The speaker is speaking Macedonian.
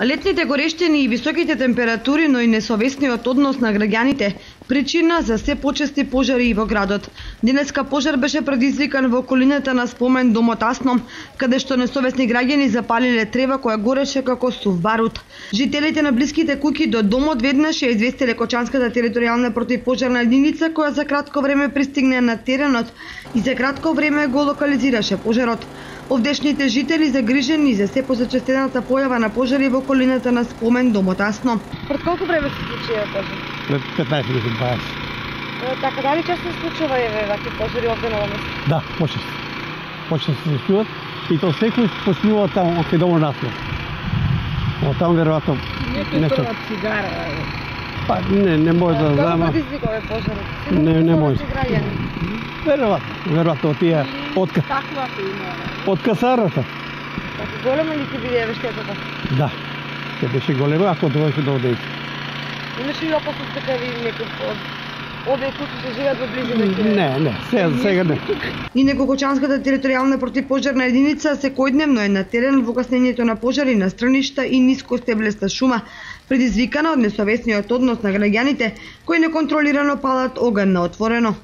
Летните горештини и високите температури, но и несовесниот однос на граѓаните, причина за се почести пожари во градот. Денеска пожар беше предизвикан во околината на спомен домот Асно, каде што несовесни граѓани запалиле трева која гореше како сув барут. Жителите на блиските куќи до домот веднаш ја известиле Кочанската територијална противпожарна единица, која за кратко време пристигна на теренот и за кратко време го локализираше пожарот. Овдешните жители загрижени за се позачестената појава на пожари во околината на спомен домот Асно. Пред колку време се случи пожар? Пред 15 минути, 20. Така, дали често се случува вакви пожари овде на место? Да, почесто. Почесто се случуваат и то секој почнува таму кај домот Асно. Од таму веројатно нешто цигара. Па не може да знам. Како предизвика овој пожар? Не може. Веројатно од тие од касарата. Така голема ли ќе биде штетата? Да. Ќе беше голема ако дојдеше до овде. Имаше ли опасност дека ви некој објект кои се живеат во близина? Не, сега не. Инаку Кочанската територијална противпожарна единица секојдневно е на терен во гаснењето на пожари на страништа и нискостеблеста шума, предизвикана од несовесниот однос на граѓаните кои неконтролирано палат оган на отворено.